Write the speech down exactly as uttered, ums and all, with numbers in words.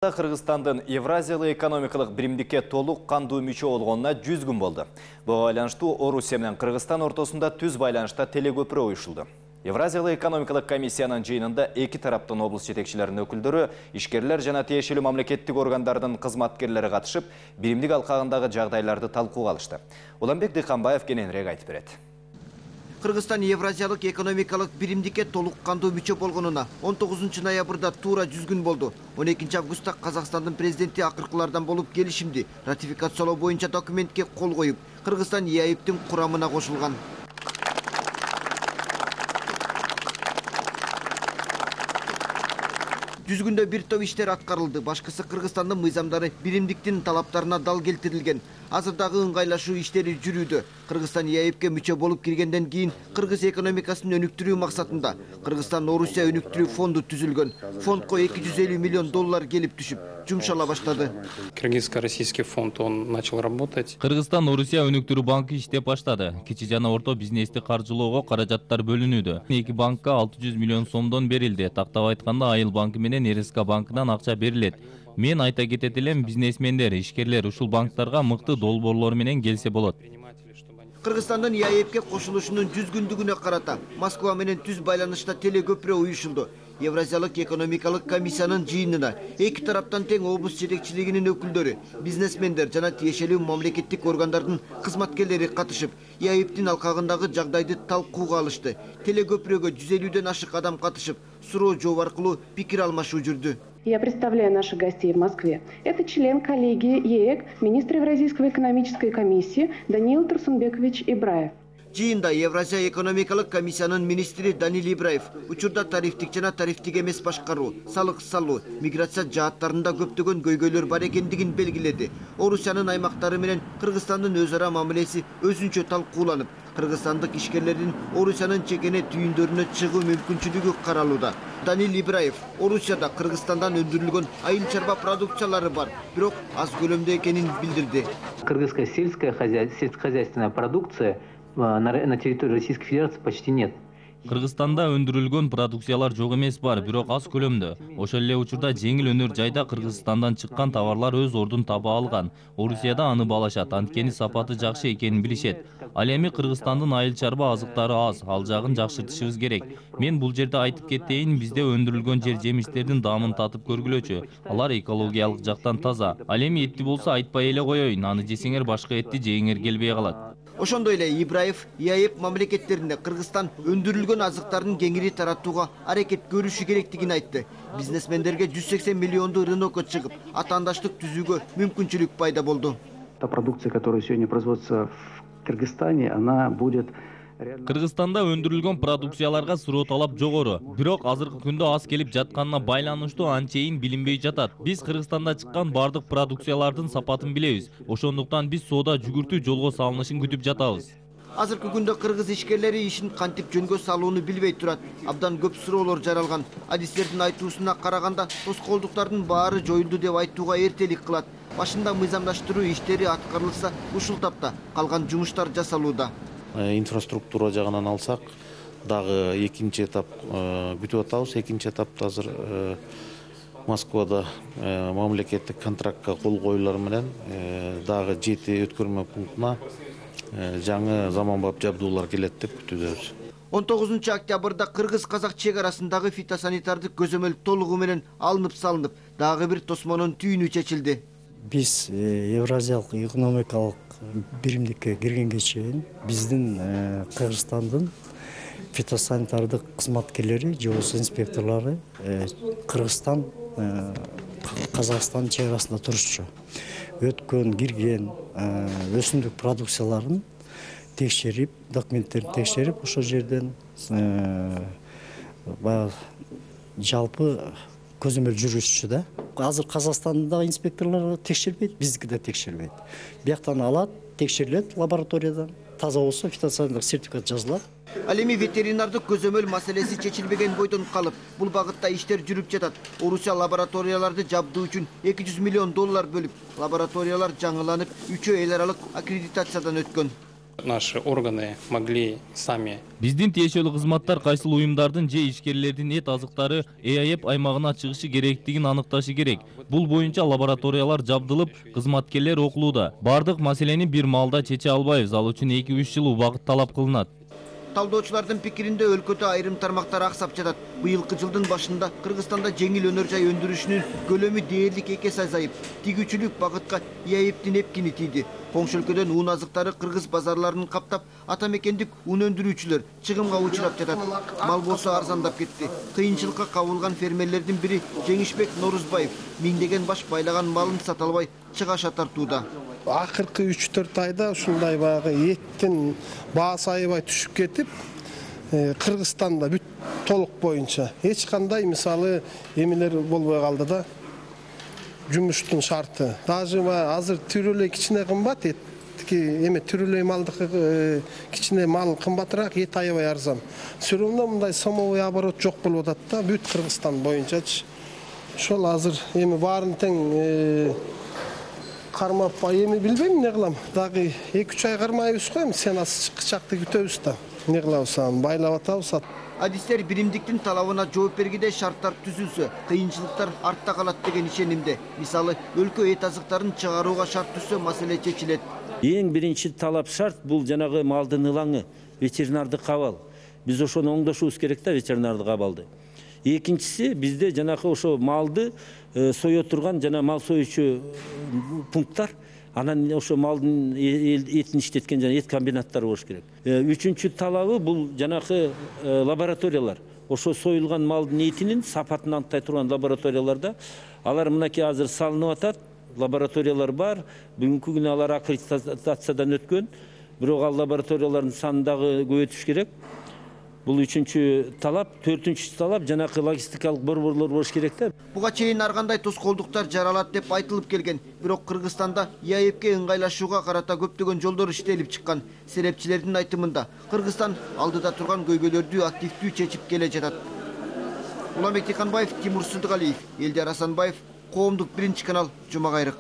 Кыргызстандын Евразиялык экономикалык биримдикке толук кандуу мүчө болгонуна жүз күн болду. Буга байланыштуу Орусия менен Кыргызстан ортосунда түз байланышта телекөпүрө уюшулду. Евразиялык экономикалык комиссиянын жыйынында эки тараптын облус жетекчилеринин өкүлдөрү, ишкерлер жана тиешелүү мамлекеттик органдардын кызматкерлери катышып, биримдик алкагындагы жагдайларды талкууга алышты. Уланбек Дыйканбаев кененирээк айтып берет. Кыргызстан Евразиялык экономикалык биримдикке толук кандуу мүчө болгонуна он тогузунчу ноябрда туура жүз күн болду. он экинчи августта Казакстандын президенти акыркылардан болуп келишимди ратификациялоо боюнча документке кол коюп, Кыргызстан Е А И Б'тин курамына кошулган. жүз күндө бир топ иштер аткарылды. Башкысы Кыргызстандын мыйзамдары биримдиктин талаптарына дал келтирилген. Азырдагы ыңгайлашуу иштери жүрүүдө. Кыргызстан Е А И Б'ке мүчө болуп киргенден кийин кыргыз экономикасын өнүктүрүү максатында Кыргызстан Орусия өнүктүрүү фонду түзүлгөн. Фондко эки жүз элүү миллион доллар келип түшүп, жумшала баштады. Кыргызско-российский фонд он начал работать. Кыргызстан Орусия өнүктүрүү банкы иштеп баштады. Кичи жана орто бизнести каржылоого каражаттар бөлүнүүдө. Эки банкка алты жүз миллион сомдон берилди. Тактап айтканда Айыл банкы менен Эр Эс К банкынан акча берилет. Мен айта кетет элем, бизнесмендер, ишкерлер ушул банктарга мыкты долбоорлор менен келсе болот. Кыргызстандын Е А И Б'ке кошулушунун жүз күндүгүнө карата Москва менен түз байланышта телекөпүрө уюшулду. Евразиялык экономикалык комиссиянын жыйынына эки тараптан тең облус жетекчилигинин өкүлдөрү, бизнесмендер жана тиешелүү мамлекеттик органдардын кызматкерлери катышып, Е А И Б'тин алкагындагы жагдайды талкууга алышты. Телекөпүрөгө жүз элүүдөн ашык адам катышып, суроо жооп аркылуу пикир алмашуу жүрдү. Я представляю наших гостей в Москве. Это член коллегии Е А Э К, министр Евразийской экономической комиссии Даниил Турсунбекович Ибраев. Жыйында Евразия экономикалык комиссиянын министри Даниил Ибраев учурда тарифтик жана тарифтик эмес башкаруу, салык салуу, миграция жааттарында көптөгөн көйгөйлөр бар экендигин белгиледи. Орусиянын аймактары менен Кыргызстандын өз ара мамилеси өзүнчө талкууланып, кыргызстандык ишкерлердин Орусиянын чекене түйүндөрүнө чыгуу мүмкүнчүлүгү каралууда. Даниил Ибраев Орусияда Кыргызстандан өндүрүлгөн айыл чарба продукциялары бар, бирок аз көлөмдө экенин билдирди. Кыргызская сельская сельскохозяйственная продукция на территории Российской Федерации почти нет. Кыргызстанда өндүрүлгөн продукциялар жок эмес бар, бирок аз көлөмдө. Ошол эле учурда жеңил өнөр жайда Кыргызстандан чыккан товарлар өз ордун таба алган. Орусияда аны баалашат, анткени сапаты жакшы экенин билишет. Ал эми Кыргызстандын айыл чарба азыктары аз, ал жагын жакшыртышыбыз керек. Мен бул жерде айтып кетейин, бизде өндүрүлгөн жер жемиштердин даамын татып көргүлөчү. Алар экологиялык жактан таза. Ал эми этти болсо айтпай эле коеюн, аны жесеңер башка этти жегиңер келбей калат. Ошондой эле Ибраев Е А И Б мамлекеттеринде Кыргызстан өндүрүлгөн азыктардын кеңири таратууга аракет көрүшү керектигин айтты. Бизнесмендерге жүз сексен миллионду рынокко чыгып, атаандаштык түзүүгө мүмкүнчүлүк пайда болду. Та продукция, которая сегодня производится в Кыргызстане, она будет... Кыргызстанда өндүрүлгөн продукцияларга суроо талап жогору, бирок азыркы күндө аз келип жатканына байланыштуу анчейин билинбей жатат. Биз Кыргызстанда чыккан бардык продукциялардын сапатын билебиз. Ошондуктан биз соода жүгүртүү жолго салынышын күтүп жатабыз. Азыркы күндө кыргыз ишкерлери ишин кантип жөнгө салууну билбей турат. Абдан көп суроолор жаралган. Адистердин айтуусуна караганда, тоскоолдуктардын баары жоюлду деп айтууга эртелик кылат. Башында мыйзамдаштыруу иштери аткарылса, ушул тапта калган жумуштар жасалууда. Инфраструктура жагынан алсак, дагы экинчи этап күтүп атабыз. Экинчи этапта азыр Москвада мамлекеттик контрактка кол коюлар менен дагы жети өткөрмө пунктуна жаңы заманбап жабдуулар келет деп күтүүдөбүз. он тогузунчу октябрда кыргыз-казак чек арасындагы фитосанитардык көзөмөл толугу менен алынып салынып, дагы бир тосмонун түйүнү чечилди. Биз Евразиялык экономикалык биримдикке киргенге чейин биздин Кыргызстандын фитосанитардык кызматкерлери, же болбосо инспекторлору Кыргызстан Казакстан чек арасында турушчу. Өткөн, кирген өсүмдүк продукцияларын текшерип, документтерин текшерип, ошол жерден жалпы көзөмөл жүргүзчү да. Азыр Казакстанда инспекторлор текшербейт, биздики да текшербейт. Бияктан алат, текшерилет лабораториядан. Таза болсо фитосанитардык сертификат жазылат. Ал эми ветеринардык көзөмөл маселеси чечилбеген бойдон калып, бул багытта иштер жүрүп жатат. Орусия лабораторияларды жабдуу үчүн эки жүз миллион доллар бөлүп, лабораториялар жаңыланып, үчөө эл аралык аккредитациядан өткөн. Наши органы могли сами. Биздин тиешелүү кызматтар кайсыл уюмдардын же ишкерлердин эт азыктары ЭАЭП аймагына чыгышы керектигин аныкташы керек. Бул боюнча лабораториялар жабдылып, кызматкерлер окулууда. Бардык маселени бир маалда чече албайбыз, ал үчүн эки үч жыл убакыт талап кылынат. Талдоочулардын пикиринде өлкөдө айрым тармактар аксап жатат. Быйылкы жылдын башында Кыргызстанда жеңил өнөр жай өндүрүшүнүн көлөмү дээрлик эки эсе азайып, тигүүчүлүк багытка ЭАЭПтин эпкини тийди. Коңшу өлкөдөн уун азыктары кыргыз базарларын каптап, ата мекендик ун өндүрүүчүлөр чыгымга учурап жатат. Мал болсо арзандап кетти. Кыйынчылыкка кабылган фермерлердин бири Жеңишбек Норузбаев миңдеген баш байлаган малын сата албай чыгаша тартууда. Акыркы үч төрт айда ушундай баягы эттин баасы аябай түшүп кетип, Кыргызстанда бүт толук боюнча эч кандай мисалы эмелер болбой калды да. Жумуштун шарты. Даже азыр түрөлөй кичине кымбат, этки эме түрөлөй малдыкы кичине мал кымбатыраак, эт аябай арзан. Сөрөмдө мындай сомовой оборот жок болуп атат да, бүт Кыргызстан боюнчачы. Ошол азыр эми баарын тең кармап, эми билбейм эмне кылам. Дагы эки үч ай кармайбыз го, эми сенасы чыкчакты күтөбүз да. Эмне кылабыз, байлап атабыз. Адистер биримдиктин талабына жооп бергенде шарттар түзүлсө, кыйынчылыктар артта калат деген ишенимде. Мисалы, өлкө эт азыктарын чыгарууга шарт түзсө, маселе чечилет. Эң биринчи талап шарт бул жанагы малдын ылаңы, ветеринардык кабал. Биз ошону оңдошубуз керек да, ветеринардык кабалды. Экинчиси, бизде жанагы ошо малды сое турган жана мал союучу пункттар, анан ошо малдын этин иштеткен жана эт комбинаттары болуш керек. Үчүнчү талабы бул жанагы лабораториялар. Ошо союлган малдын этинин сапатын аныктай турган лабораторияларда, алар мынакей азыр салынып атат, лабораториялар бар. Бүгүнкү күнү алар аккредитациядан өткөн. Бирок ал лабораториялардын санын дагы көбөйтүш керек. Бул үчүнчү талап, төртүнчү талап жанакы логистикалык борборлор болуш керек да. Буга чейин ар кандай тоскоолдуктар жаралат деп айтылып келген. Бирок Кыргызстанда ЭАЭПке ыңгайлашууга карата көптөгөн жолдор иштелип чыккан. Серепчилердин айтымында, Кыргызстан алдыда турган көйгөйлөрдү активдүү чечип келе жатат. Уланбек Тиханбаев, Тимур Сыдыгалиев, Элдер Асанбаев, Коомдук биринчи канал, Жума Кайрык.